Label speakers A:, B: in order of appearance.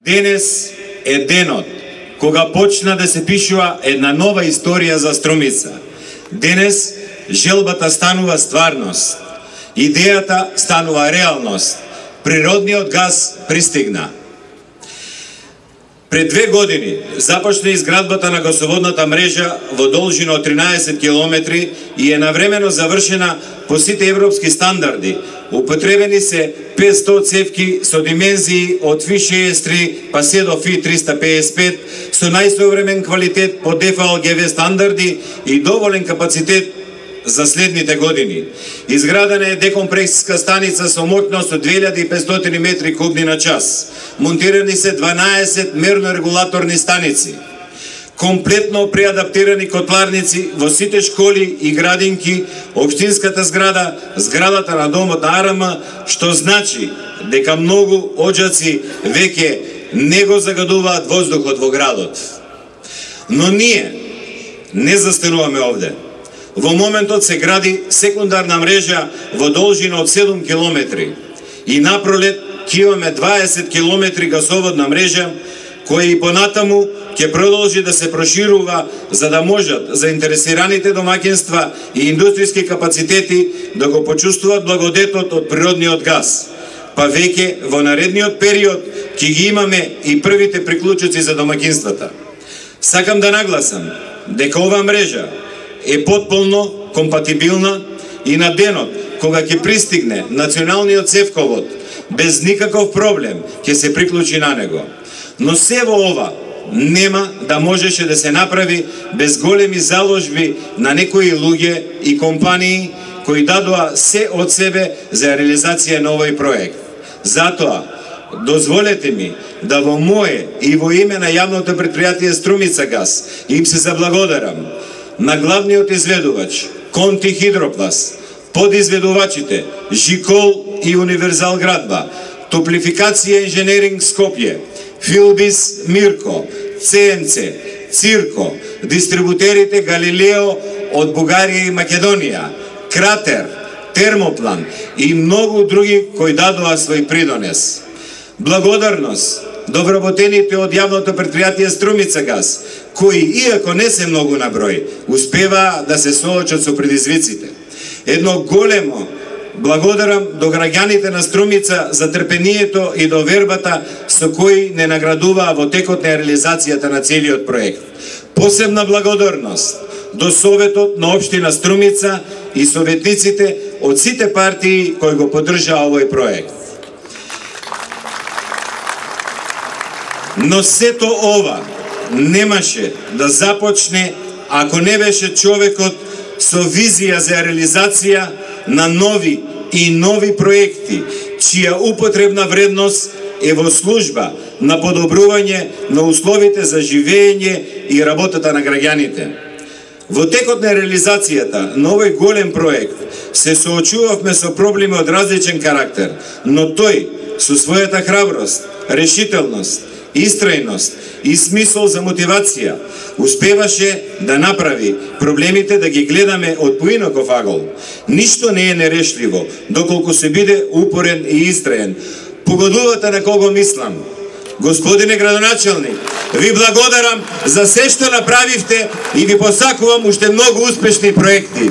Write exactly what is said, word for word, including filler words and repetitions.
A: Денес е денот кога почна да се пишува една нова историја за Струмица. Денес желбата станува стварност, идејата станува реалност, природниот газ пристигна. Пред две години започна изградбата на гасоводната мрежа во должина од тринаесет километри и е навремено завршена по сите европски стандарди. Употребени се петстотини цевки со димензии од Фи шеесет три па се до Фи триста пеесет и пет со најсовремен квалитет по Д Ф Л Г В стандарди и доволен капацитет за следните години. Изградена е декомпресиска станица со моќност од две илјади и петстотини метри кубни на час. Монтирани се дванаесет мерно-регулаторни станици. Комплетно преадаптирани котларници во сите школи и градинки, општинската зграда, зградата на домот на А Р М, што значи дека многу оџаци веќе не го загадуваат воздухот во градот. Но ние не застануваме овде. Во моментот се гради секундарна мрежа во должина од седум километри и напролет ќе имаме дваесет километри гасоводна мрежа која и понатаму ќе продолжи да се проширува за да можат заинтересираните домаќинства и индустријски капацитети да го почувствуваат благодетот од природниот газ. Па веќе во наредниот период ќе ги имаме и првите приклучоци за домаќинствата. Сакам да нагласам дека ова мрежа е потполно компатибилна и на денот кога ќе пристигне националниот цевковод без никаков проблем ќе се приклучи на него. Но се во ова нема да можеше да се направи без големи заложби на некои луѓе и компании кои дадоа се од себе за реализација на овој проект. Затоа, дозволете ми да во мое и во име на јавното претпријатие Струмица газ им се заблагодарам на главниот изведувач Конти Хидроплас, подизведувачите Жикол и Универзал Градба, Топлификација инженеринг Скопје, Филбис Мирко, Це Ем Це, Цирко, дистрибутерите Галилео од Бугарија и Македонија, Кратер, Термоплан и многу други кои дадоа свој придонес. Благодарност до вработените од јавното претпријатие Струмица газ, кои, иако не се многу на број, успеваа да се соочат со предизвиците. Едно големо благодарам до граѓаните на Струмица за трпението и довербата со кои не наградуваа во текот на реализацијата на целиот проект. Посебна благодарност до Советот на општина Струмица и советниците од сите партии кои го поддржаа овој проект. Но сето ова немаше да започне ако не беше човекот со визија за реализација на нови и нови проекти, чија употребна вредност е во служба на подобрување на условите за живење и работата на граѓаните. Во текот на реализацијата на овој голем проект се соочувавме со проблеми од различен карактер, но тој со својата храброст, решителност, истрајност и смисол за мотивација успеваше да направи проблемите да ги гледаме од поинаков агол. Ништо не е нерешливо доколку се биде упорен и истраен. Погодувате на кого мислам. Господине градоначелник, ви благодарам за се што направивте и ви посакувам уште многу успешни проекти.